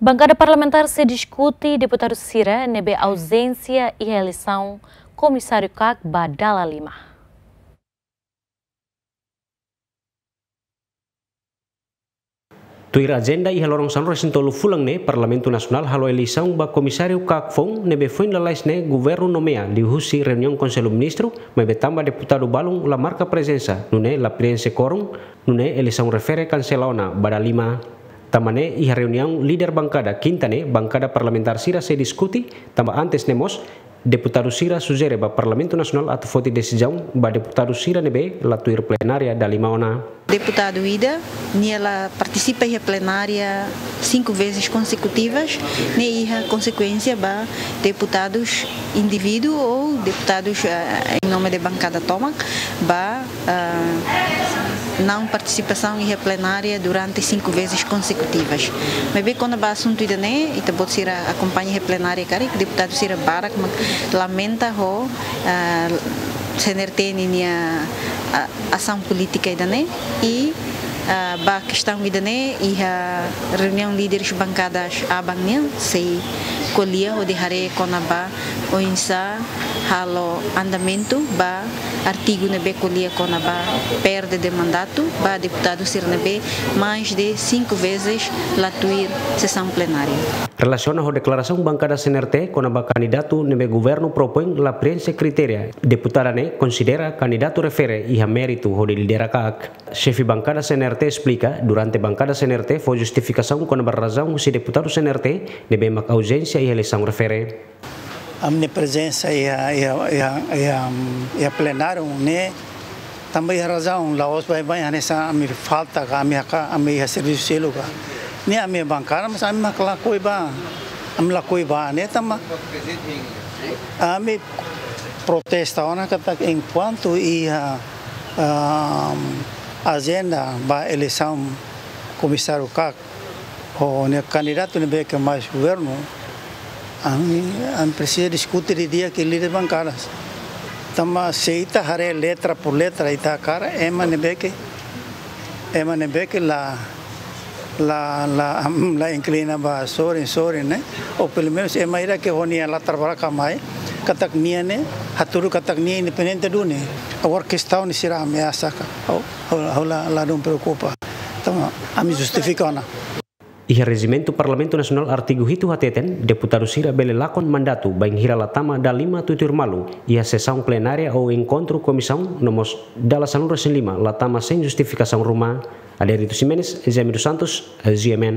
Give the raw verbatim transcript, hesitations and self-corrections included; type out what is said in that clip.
Bankada parlamentár sei diskute deputadu sira ne'ebé auzénsia iha eleisaun komisáriu kak ba dala lima. Tuir ajenda iha loron sanulu-resin-tolu fulan ne'e, Parlamentu Nasionál halo eleisaun ba komisáriu kak foun ne'ebé foin lalais ne'e governu nomeia liuhusi reuniaun Konsellu Ministru, maibé tanba deputadu balun la marka prezensa, nune'e la preenxe kuorum, nune'e eleisaun refere kansela ona ba dala lima. Tanba ne'e iha reuniaun líder bankada kinta ne'e, bankada parlamentár sira sei diskute, tanba antes ne'e mós, deputadu sira sujere ba Parlamentu Nasionál atu foti desizaun ba deputadu sira ne'ebé la tuir plenária dala lima ona. Deputadu ida, nia la partisipa iha plenária cinco vezes consecutivas, ne'e iha konsekuénsia ba deputadus indivíduu ou deputadus, eh, em nome de bankada tomak, ba, ah, não participação iha plenária durante cinco vezes consecutivas. Maibé kona-ba asuntu ida-ne'e, ita-boot sira akompaña iha plenária karik, deputadu sira barak mak lamenta ho, ah, C N R T ninia, ah, asaun polítika ida-ne'e. I, ah, ba kestaun ida-ne'e, iha reuniaun líderes bankadas aban nian sei ko'alia hodi haree kona-ba oinsá halo andamentu ba artigu ne'ebé ko'alia kona-ba perde de mandatu ba deputadu sira ne'ebé mais de cinco vezes la tuir sesaun plenária. Relasiona ho deklarasaun bankada C N R T kona-ba kandidatu ne'ebé governu propoin la preenxe kritéria, deputada ne'e konsidera kandidatu refere iha méritu hodi lidera kak. Xefe bankada C N R T esplika, durante bankada C N R T fó justifikasaun kona-ba razaun husi deputadu C N R T ne'ebé mak auzénsia iha eleisaun refere. Ami-nia prezensa iha, iha, iha, iha, mm, iha plenáriu ne'e tanba iha razaun, la'ós baibain hanesan ami falta ka, ami haka, ami iha servisu seluk ka. Ne'e ami bankada, mas ami mak lakohi bá, ami lakohi bá ne'e tanba ami protesta ona katak enkuantu iha, ah, ajenda ba eleisaun komisáriu kak, ho ne'e kandidatu ne'ebé ke mais governu, ami, ami presiza diskute didi'ak ho líder bankadas. Tanba se ita haree letra por letra, ita hakarak ema ne'ebé ke, ema ne'ebé ke la, la, la, la inklina ba sorin, sorin ne'e. Ou pelumenus ema ida ke ho nia latar belakang mai, katak nia ne'e, hatudu katak nia independente duni. Agora kestaun ne'e sira ameasa ka. Ha'u, ha'u, ha'u la, ladún preokupa. Tanba ami justifika ona. Iha rejimentu Parlamentu Nasionál artigu hitu hateten, deputadu sira bele lakon mandatu bainhira la tama dala lima tuituir malu iha sesaun plenária ou enkontru komisaun, no mós dala sanulu-resin-lima la tama sein justifikasaun ruma. Adérito Ximenes, Jaime dos Santos, G M N.